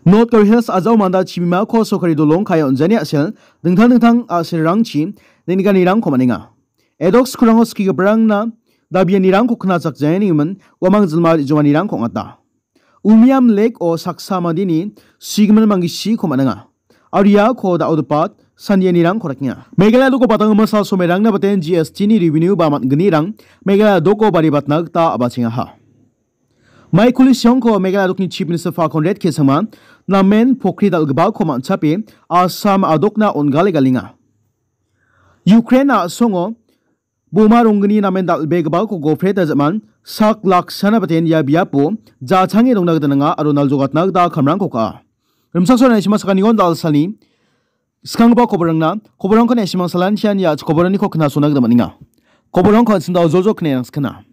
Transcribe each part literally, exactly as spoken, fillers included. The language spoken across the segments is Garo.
North Garo Hills a·jao manda chibimako sorkari dolong ka·e on·jani a·sel dingtang dingtang a·selrangchi neng·nikanirangko man·enga. Edok skul rango skigiparangna dabianirangko knachakjaenganin uamang jilma re·jonganirangko ong·ata. Umiam Lake-o saksa mandeni sigimin manggisiko man·enga. Aro iako da·odepat sandianirangko dakenga. Meghalaya doko batanggimin sal somerangna baten G S T-ni revenue ba man·gnirang Meghalaya doko baribatna gita a·bachengaha. Maikuli siongko Meghalaya dokni Chief Minister Fa Conrad K Sangma namen pokri dal·gipako man·chape Assam a·dokna on·gale galenga. Ukraine a·songo boma ronggni namen dal·begipako gopre dajaman sak laksana baten ia biapo jachange dongna gita nanga aro naljogatna gita kamrangko ka·a. Rimchaksoa naisima sakanigon dal·salni skanggipa koborangna, koborangko naisima salantian ia koboraniko knasona gita man·enga. Koborangko an·chingdao joljol knae rangskana.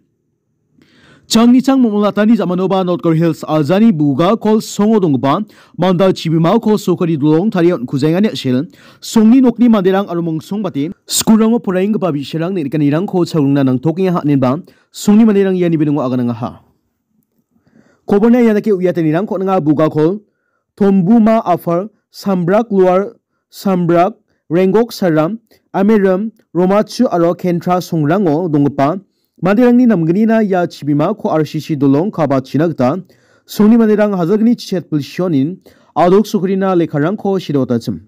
Changnichang Momol Atani jamanoba North Garo Hills a·jani Bugakol songo donggipa manda chibimako sorkari dolong tarie on·kujengani a·sel, songni nokni manderang aro mongsongbate skulrango poraienggipa bi·sarang neng·nikanirangko chagrungna nangtokenga, hanienba songni manderang iani biningo aganangaha. Koborna ia dake uiatanirangko on·enga, Bugakol, Tombuma Upper, Sambrak Lower, Sambrak, Renggok Saram, Ameram, Romachu aro Kentra songrango donggipa manderangni namgnina ia chibimako R C C dolong kabachina gita songni manderang hajalgni chichet bilsionin a·dok sorkarina lekkarangko sidotachim.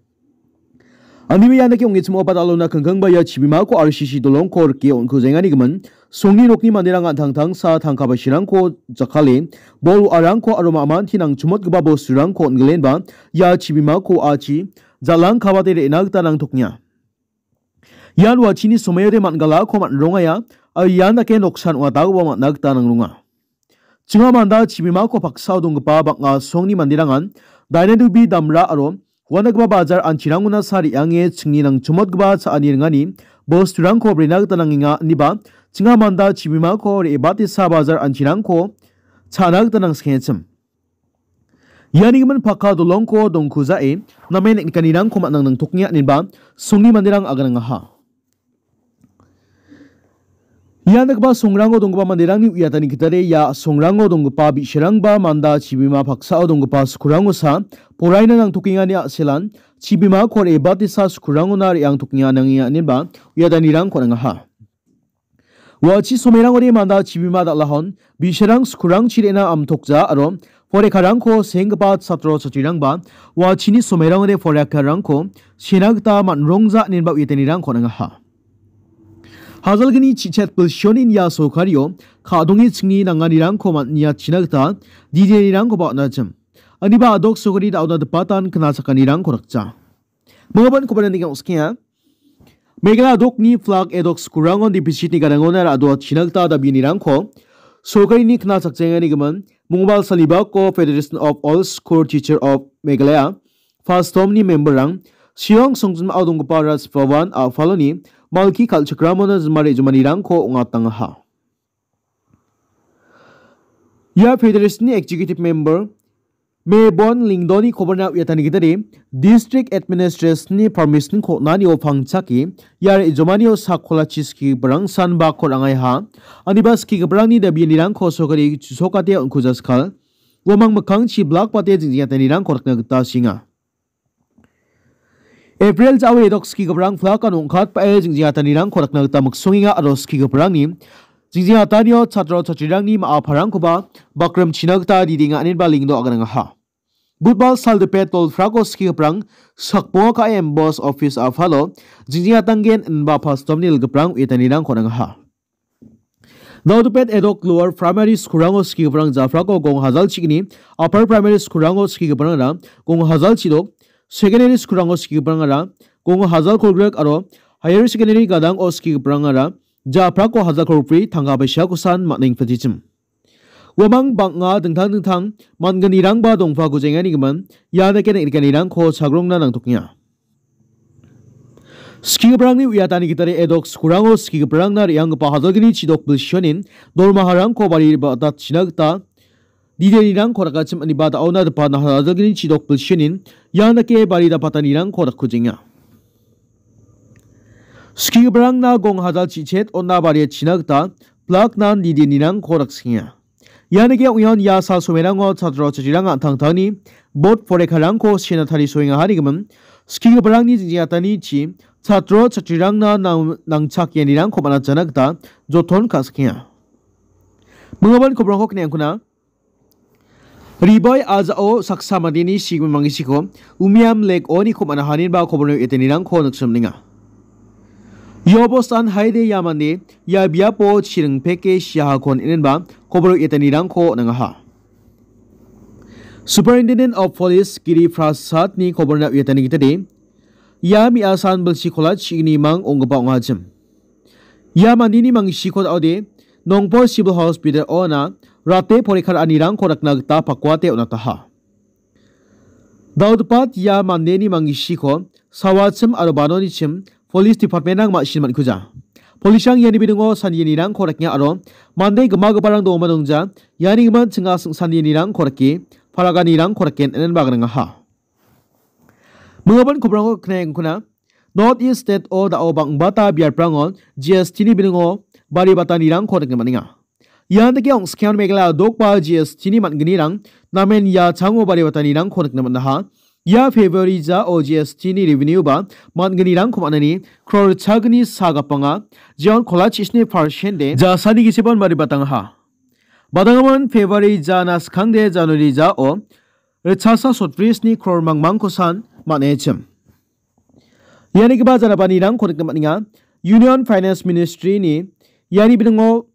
Aniba ian dake ong·e chim·o badalona kangkangba ia chibimako R C C dolongko rike on·kujenganigimin songni nokni manderang an·tangtangsa tangka basirangko jakkale, bol wa·arangko aro ma·manti nangchimotgipa bosturangko on·gilenba ia chibimako a·chi jal·ang kabate re·na gita nangtokenga. Ian wa·chini somoiode man·galako man·rongaia, aro ian dake noksan ong·atakoba man·na gita nangronga. Chinga manda chibimako paksao donggipa bang·a songni manderangan Dainadubi damra aro uanagipa bajar anchirangona sa re·ange chingni nangchimotgipa cha·ani ringani bosturangko brena gita nangenga, iniba chinga manda chibimako re·batesa bajar anchirangko cha·na gita nangskengachim. Iani gimin pakka dolongko dongkujae namen neng·nikanirangko man·a nangtokenga, inenba songni manderang aganangaha. Ia nikgipa songrango donggipa manderangni uiatani gitade ia songrango donggipa bi·sarangba manda chibima paksao donggipa skulrangosa poraina nangtokengani a·selan chibimako re·batesa skulrangona re·angtokenga nangenga inenba uiatanirangko nangaha. Ua·chi somerangode manda chibima dal·ahon bi·sarang skulrangchi re·na amtokja aro porekarangko senggipa chatro chatrirangba ua·chini somerangode porekarangko sena gita man·rongja inenba uiatanirangko nangaha. Hajalgni chichet bilsionin ia sorkario ka·donge chingni nanganirangko man·niatchina gita didianirangkoba on·achim. Aniba a·dok sorkari da·ona dipatan knachakanirangko dakja. Mongaba nikoba nikenga. Meghalaya a·dokni flag edok skulrangon deficitni gadangona ra·doatchina gita dabianirangko sorkarini knachakjengani gimin Mongba salibako Federation of All School Teacher of Meghalaya, fastomni memberrang Shillong songjinmao donggipa Raj Bhavan a·paloni malki kal·chakramona jima re·jomanirangko ong·atangaha. Ia federation-ni executive member Mebon Lingdoni koborna uiatani gitade district administration-ni permission-ko on·anio pangchake ia re·jomanio sakkolachi skigiparang sanbako rangaiha. Aniba skigiparangni dabianirangko sorkari chusokate on·kujaskal. Uamang mikkangchi blak bate jingjiatanirangko rakna gita sienga. April ja·o edok skigiparang flag-an ong·katbae jingjiatanirangko rakna gita miksongenga aro skigiparangni jingjiatanio chatro chatrirangni ma·a parangkoba bakrimchina gita didenga inenba Lingdo aganangaha. Budbal saldipet tolfrako skigiparang sakbonga ka·e M B O S office a·palo jingjiatanggen inba pastomni ilgiparang uiatanirangko nangaha. Naodopet edok lower primary skulrango skigiparang jafrako gong hajal chigni, upper primary skulrango skigiparangara gong hajal chidok, secondary skulrango skigiparangara gong hajal kolgrik aro higher secondary gadango skigiparangara jafrako hajal kolgri tangka paisako san man·engpetichim. Uamang bang·a dingtang dingtang man·gnirangba dongpako jengani gimin ia dake neng·rikanirangko chagrongna nangtokenga. Skigiparangni uiatani gitade edok skulrango skigiparangna re·anggipa hajalgni chidok bilsionin dormaharangko bari ba·datchina gita didianirangko rakachim aniba da·ona dipana hajalgni chidok bilsionin ian dake bari dapatanirangko dakkujenga. Skigiparangna gong hajal chichet on·a bariachina gita blaknan didianirangko daksenga. Ia nike ong·ion ia sal somerango chatro chatrirang an·tangtangni bot porekarangko sena tarisoengaha nigimin, skigiparangni jingjingatanichi chatro chatrirangna nang-, nangchak ianirangko man·atjana gita joton ka·sikenga. Mingaban kobrangko kniangkuna. Ribai ajao saksa mandeni sigimin mangisiko Umiam Lake oniko man·ahaninba koborno etenirangko niksimninga. Ia bostan haide ia mande ia biapo chiring peke siahakon inenba koboro etanirangko on·angaha. Superintendent of Police Giri Prasadni koborna uiatani gitade, ia me·asan bilsi kola chi·gnimang ong·gipa ong·achim. Ia mandeni mangisiko da·ode Nongpol Civil Hospital-ona rate porikar anirangko rakna gita pakuate on·ataha. Dal·gipa ia mandeni mangisiko sawachim aro banonichim Police Department-rang ma·sina man·kuja. Police-rang iani bidingo sandianirangko rakenga aro mande gimagiparang dongba dongja, iani gimin ching·a sing-, sandianirangko rake, paraganirangko raken inen ba gringaha. Mingaban kobrangko knaengkuna, North East State-o da·o bang·bata biaprango G S T-ni bidingo bari batanirangko nikna man·enga. Ian dake ong·skengan Meghalaya dokba G S T-ni man·gnirang namen ia chango bari batanirangko nikna man·aha. Ia February jao G S T-ni revenue-ba man·gnirangko man·ani kror chagni sa gapanga, jeon kola chisni percent-de jasani gisepan bari batangaha. Badangaman February jana skangde January jao ritchasa sotbrisni kror mangmangkosan man·echim. Ianigipa janapanirangko nikna man·enga. Union Finance Ministry-ni iani bidingo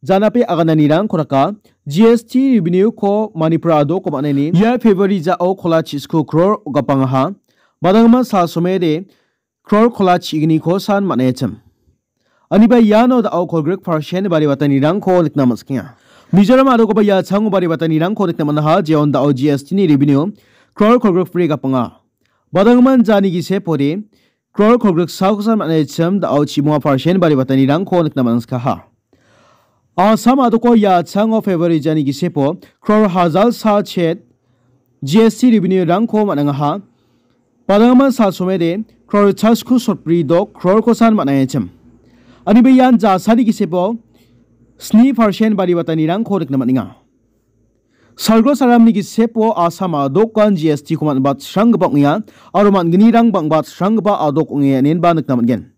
janape agananirangko raka, G S T revenue-ko Manipur adoko man·ani ia February jao kola chisku kror gapangaha. Badangma sal somede kror kola chigniko san man·echim. Aniba iano da·o kolgrik percent bari batanirangko nikna man·sikenga. Mizoram adokoba ia chango bari batanirangko nikna man·aha, jeon da·o G S T-ni revenue kror kolgrik bri gapanga. Badangman jani gisepode kror kolgrik sakosan man·echim da·o chimonga percent bari batanirangko nikna man·sikaha. Assam adoko ia chango February jani gisepo kror hajal sa chet G S T revenue-rangko man·angaha. Badangman sal somede kror chasku sotbri dok krorkosan man·echim. Aniba ian jasani gisepo sni percent bari batanirangko nikna man·enga. Salgro saramni gisepo Assam adokan G S T-ko man·batsranggipa ong·enga aro man·gnirang bang·batsranggipa adok ong·enga inenba nikna man·gen.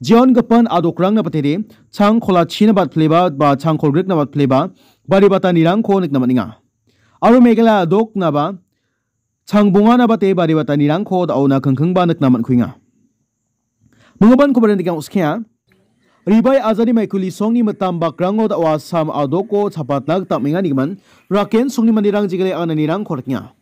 Jeon gipin adokrangna batede chang kolachina batpleba ba chang kolgrikna batpleba bari batanirangko nikna man·enga. Aro Meghalaya adoknaba chang bonganaba te bari batanirangko da·ona kingkingba nikna man·kuenga. Mingaban kobaran dikang uskenga. Ribai ajani maikuli songni mitam bakrango da·o Assam adoko chapatna gita amenga nigimin, raken songni manderang jegale ananirangko rikenga.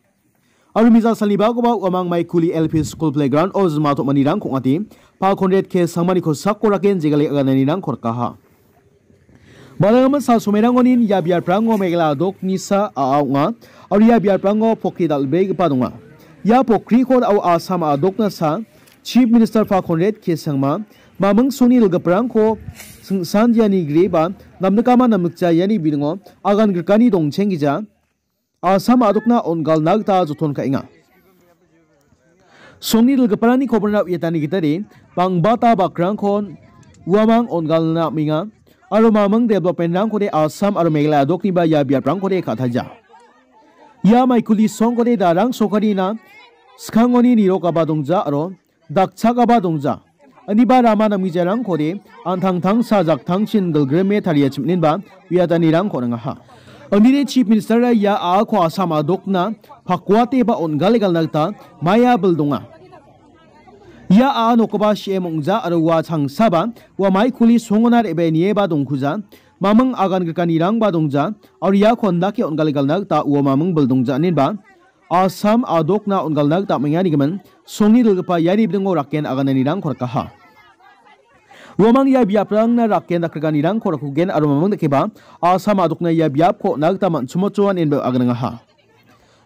Aro mija salni bakoba uamang maikuli L P school playground-o jima tom·anirangko ong·ate, Pa Conrad K Sangmani kosako raken jegale ananirangko rikaha. Balangaman sal somairangoni ia biaprango Meghalaya adoknisa a·a ong·a, aro ia biaprango pokri dal·begipa donga. Ia pokriko da·o Assam adoknasa Chief Minister Pa Conrad K Sangma, maming songni dilgiparangko singsandiani grieba namnikama namnikja iani bidingo agan grikani dongchenggija Assam adokna on·galna gita joton ka·enga. Songni dilgiparangni koborna uiatani gitade, bangbata bakrangko uamang on·galna am·enga, aro maming development-rangkode Assam aro Meghalaya adokniba ia biaprangkode ka·taija. Ia maikuli songkode darang sokarina skangoni nirokaba dongja aro dakchakaba dongja. Aniba rama namgijarangkode an·tangtangsa jaktangchin gilgrime tariachim inenba uiatanirangko on·angaha. Anide Chief Minister-a ia a·ako Assam adokna pakuate ba on·gale galna gita maia bil donga. Ia a·a nokoba C M ong·ja aro ua changsaba ua maikuli songona re·bae nieba dongkuja, maming agan grikanirangba dongja, aro iako indake on·gale galna gita ua maming bil dongja inenba Assam adokna on·galna gita am·enga nigimin, songni dilgipa iani bidingo raken agananirangko rikaha. Uamang ia biaprangna raken dakrikanirangko rakugen aro maming dakeba Assam adokna ia biapko on·a gita man·chimochoan inba aganangaha.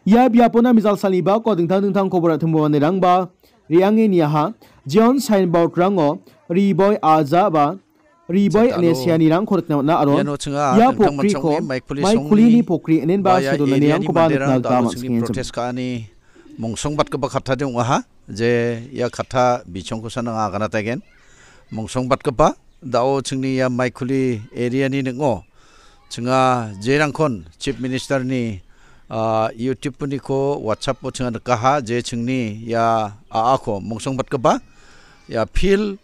Ia biapona mijal salni bako dingtang dingtang kobor a·timo manderangba re·ange niaha, jeon signboard-rango Riboi Aja ba Riboi ine seanirangko nikna man·a aro iano chinga ia dingtang pokriko manchongni maikuli songni maikuli pokri inenba ba ia sedonanirangkoba area-ni nikna manderang gita da·o chingni man·skenga. Protest ka·ani mongsongbatgipa kattade ong·aha, je ia katta bichongkosan anga aganataigen. Mongsongbatgipa da·o chingni ia maikuli area-ni ning·o Ching·a jerangkon Chief Minister-ni, ah, YouTube-oniko WhatsApp-o ching·a nikaha, je chingni ia a·ako mongsongbatgipa ia pil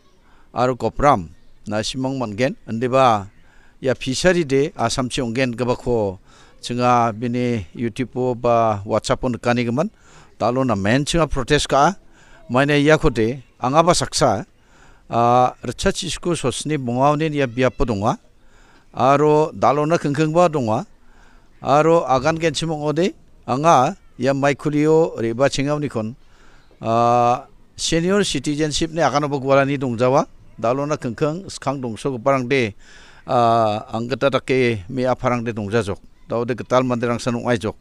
aro gopram na·simang man·gen, indiba ia fishery de Assamchi ong·gen gipako ching·a bini YouTube-o ba WhatsApp-o nikanigimin, dalo namen ching·a protest ka·a. Maina iakode angaba saksa, ah, ritchachisku sosni bongaonin ia biapo donga. Aro dalona kingkingba donga. Aro agan genchim ong·ode anga ia maikulio re·bachengaonikon, ah, senior citizenship-ni aganoba gualani dongjawa. Dalona kingking skang dongsogiparangde, ah, anggita dake me·aparangde dongjajok. Daode gital manderangsan ong·aijok.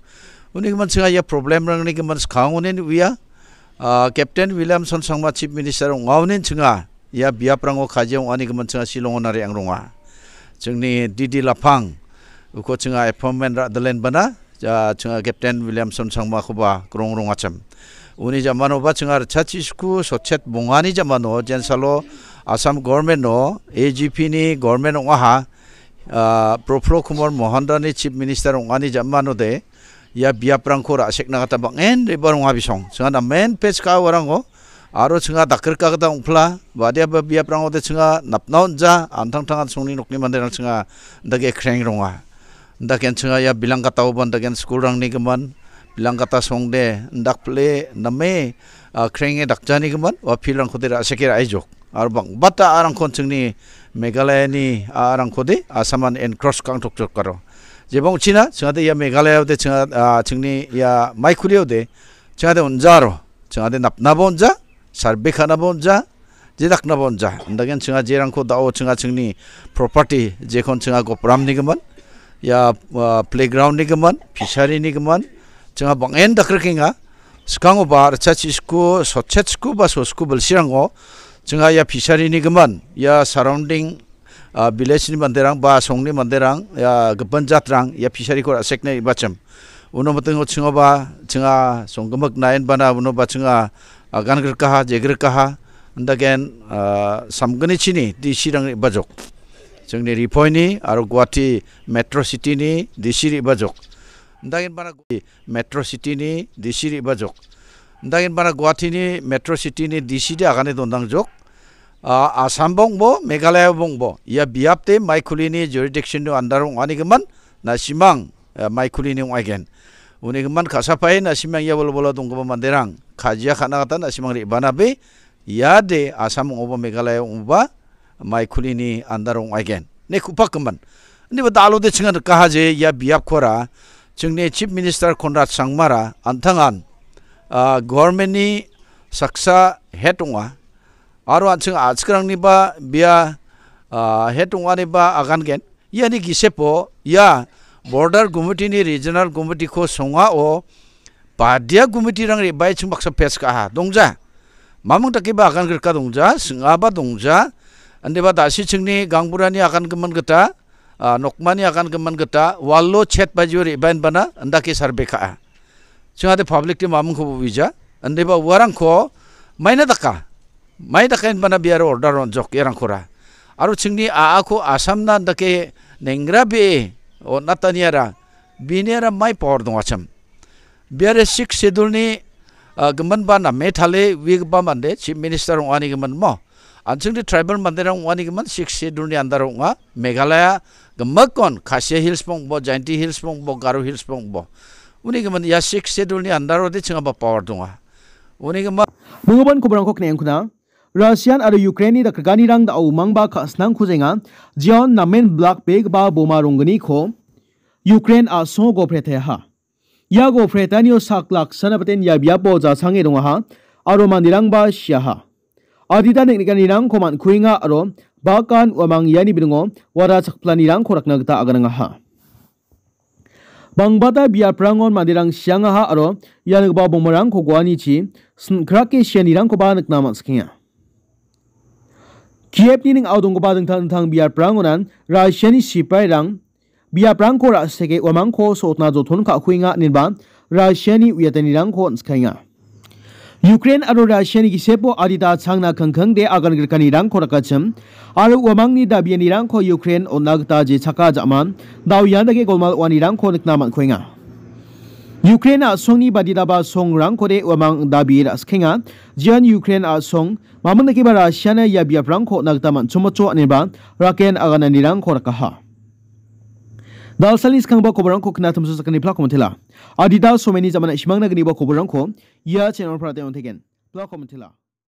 Uni gimin ching·a ia problemrangni gimin skangonin uia, ah, Captain Williamson Sangma Chief Minister ong·aonin ching·a ia biaprango kajia ong·ani gimin ching·a Shillongo nare ang ronga. Chingni D D Lapang uko ching·a appointment ra·dilen bana, ja, ching·a Captain Williamson Sangmakoba krong rongachim. Uni jamanoba ching·a ritchachisku sotchet bongani jamano jensalo Assam government-o A G P-ni government ong·aha, ah, Praful Kumar Mahantani Chief Minister ong·ani jamanode ia biaprangko ra·sekna gita bang·en re·baa ronga bisong. Ching·a namen pech ka·a uarango aro ching·a dakrika gita ong·pila. Badiaba biaprangode ching·a napna on·ja, an·tangtangan songni nokni manderang ching·a dake kreng ronga. Daken ching·a ia bilangkataoba daken school-rangni gimin, bilangkata songde indakpile name, ah, krenge dakjani gimin, ua pilrangkode ra·seke ra·aijok. Aro bang·bata a·rangkon chingni Meghalayani a·rangkode Assaman encroach ka·angtokjok aro. Jeba ong·china, ching·ade ia Meghalayode ching·a, ah, chingni ia maikuliode ching·ade on·jaro, ching·ade napnaba on·ja, sarbe ka·naba on·ja, jedaknaba on·ja. Indaken ching·a jerangko da·o ching·a chingni property jekon ching·a gopramni gimin, ia, ah, playground-ni gimin, fishery-ni gimin, ching·a bang·en dakrikenga. Skangoba ritchachisku, sotchetku ba sosku bilsirango ching·a ia fishery-ni gimin, ia surrounding, ah, village-ni manderang ba songni manderang, ia gipin jatrang ia fishery-ko ra·sekna re·bachim. Uno mitingo ching·oba ching·a songgimik naenbana unoba ching·a agan grikaha, jegrikaha, indaken, ah, samgnichini D C-rang re·bajok. Chingni Riphoi-ni aro Guwahati Metro City-ni D C re·bajok. Indaken bana Metro City-ni D C re·bajok. Indaken bana Guwahati-ni Metro City-ni D C de agane dondangjok. Ah, Assam bongbo, Meghalaya bongbo. Ia biapde maikulini jurisdiction-ni under ong·ani gimin, na·simang, eh, maikulini ong·aigen. Uni gimin ka·sapae na·simang ia bolbola donggipa manderang kajia ka·na gita na·simang re·banabe, iade Assam ong·oba, Meghalaya ong·oba, maikulini under ong·aigen. Ne ku·pakgimin. Indiba dalode ching·a nikaha je ia biapkora chingni Chief Minister Conrad Sangmara an·tangan, ah, government-ni saksa head ong·a. Aro an·ching a·chikrangniba bia, ah, head ong·aniba agangen. Iani gisepo ia border committee-ni regional committee-ko songao badia committee-rang re·bae ching baksa pes ka·aha. Dongja. Mamung dakeba agan grika dongja, sing·aba dongja. Indiba da·sichingni gangburani agan gimin gita, ah, nokmani agan gimin gita, walo chet bajio re·baenbana indake sarbe ka·a. Ching·ade public-de mamungkoba uija. Indiba uarangko maina daka. Mai daka inbana biaro order on·jok iarangkora. Aro chingni a·ako Assamna indake nengrabee on·ataniara, biniara mai power dongachim. Biare Sixth Schedule-ni, ah, giminba name tale uigipa mande Chief Minister ong·ani gimin mo. An·chingde tribal manderang ong·ani gimin Sixth Schedule-ni under ong·a. Meghalaya gimikkon Khasi Hills bongbo, Jaintia Hills bongbo, Garo Hills bongbo. Uni gimin ia Sixth Schedule-ni under-ode ching·aba power donga. Uni gimin Mingguban koborangko kne·angkuna. Russian aro Ukraine-ni dakrikanirang da·o umangba ka·sinangkujenga. Jeon namen blak begipa boma ronggniko Ukraine a·songo gopre teaha. Ia gopre teanio sak laksana biten ia biapo jasange dongaha aro manderangba siaha. Adita neng·nikanirangko man·kuenga aro bakan uamang iani bilingo wara chakplanirangko rakna gita aganangaha. Bangbata biaprangon manderang siangaha aro ianigipa bomarangko goanichi sin·krake sianirangkoba nikna man·sikenga. Kievni ning·ao donggipa dingtang dingtang biaprangonan Russiani sipairang biaprangko ra·seke uamangko sotna joton ka·kuenga ineba Russiani uiatanirangko on·skaenga. Ukraine aro Russiani gisepo adita changna kangkangde agan grikanirangko rakachim, aro uamangni dabianirangko Ukraine on·na gita jechaka ja·man, dao ian dake golmal oanirangko nikna man·kuenga. Ukraine a·songni baditaba songrangkode uamang dabi ra·skenga, jian Ukraine a·song, mamindakeba Russiana ia biaprangko on·na gita man·chongmocho aneba raken agananirangko rakaha. Dalsalni skangba koborangko knatimso sakani plako mantela. Adita someni jamana isimangna gniba koborangko ia channel-o prateng on·teken. Plako mantela.